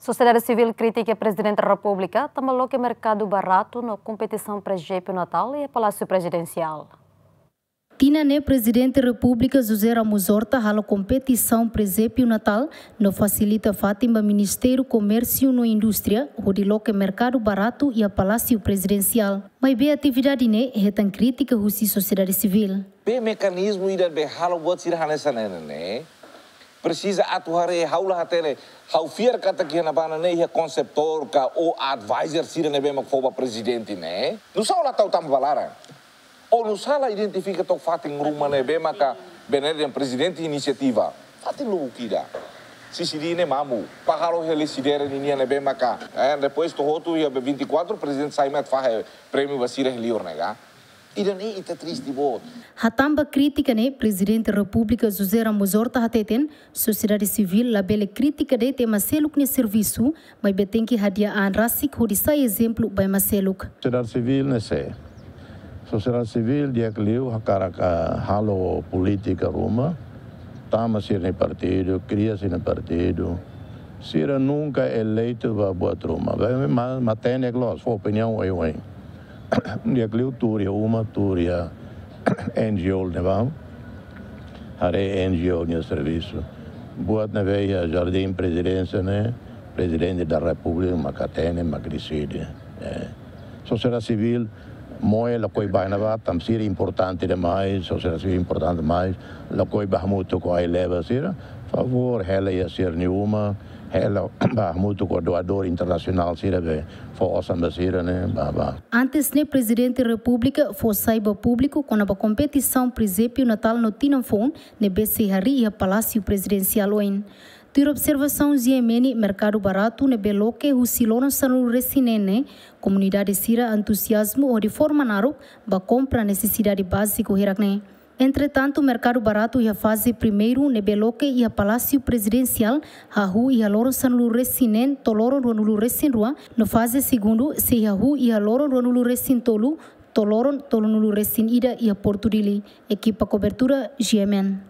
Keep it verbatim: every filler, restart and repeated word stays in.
Sosiedade Sivíl kritika Prezidente Repúblika tanba loke merkadu baratu no kompetisaun prezépio Natál iha Palásiu Prezidensiál. Tinan ne'e Prezidente Repúblika José Ramos Horta halo kompetisaun prezépio Natál no fasilita fatin ba Ministériu Komérsiu no Indústria hodi loke merkadu baratu iha Palásiu Prezidensiál. Maibé atividade ne'e hetan krítika husi sosiedade sivíl. Be mekanizmu ida be halo buat sira hanesan ne'e ne'e. Presiza atu haree, ha'u la hatene, ha'u fiar katak iha ne'ebá ne'e iha konseptór ka ou advisor sira ne'ebé mak fó ba prezidente ne'e. Nusá la tau tama ba laran. Ou nusá la identifika took fatin ruma ne'ebé maka bene dehan prezidente inisiativa. Fatin lubuk ida. Sisi di ne'e mamu. Para halo heli sidere ninia ne'ebé maka. Eh, depois to'o hotu iha be vinte e quatro, prezidente sai mai fahe prémiu ba sira iha liur ne'e ka. Ida ne'e ita triste boot. Hatán ba krítika ne'e, Prezidente Repúblika José Ramos Horta hateten, sosiedade sivíl labele kritika de'it ema seluk nia servisu, maibé tenke hadi'a an rasik hodi sai ezemplu ba ema seluk. Sosiedade sivíl ne'e sé. Sosiedade sivíl di'ak liu hakarak halo polítika ruma, tama sira-nia partidu, kria sira-nia partidu. Sira nunka eleitu ba buat ruma. Be, ma, matenek loos, fó opiniaun oioin. Di'ak liu tuur iha uma, tuur iha N G O ne'ebá. Haree N G O nia servisu. Buat ne'ebé iha Jardín Prezidénsia ne'e, Prezidente da Repúblika mak hatene, mak deside. Eh. Sosiedade sivíl, moe lakohi ba iha ne'ebá, tanba sira importante demais, sosiedade sivíl importante demais, lakohi ba hamutuk ho ai-leba sira, favór, hela iha sira-nia uma, hela ba hamutuk ho doadór internasionál sira be, fó osan ba sira ne'e, ba, ba. Antes ne'e Prezidente Repúblika fó sai ba públiku kona-ba kompetisaun prezépio Natál no tinan foun ne'ebé sei harii iha Palásiu Prezidensiál oin. Tuir observasaun G M N, merkadu baratu ne'ebé loke husi loron sanulu-resin-neen ne'e, komunidade sira entuziazmu hodi forma naruk ba kompra nesesidade báziku hirak ne'e. Entretantu, merkadu baratu iha faze primeiru ne'ebé loke iha Palásiu Prezidensiál hahú iha loron sanulu-resin-neen to'o loron ruanulu-resin-rua, no faze segundu sei hahú iha loron ruanulu-resin-tolu to'o loron tolunulu-resin-ida iha Portu Dili. Ekipa kobertura G M N.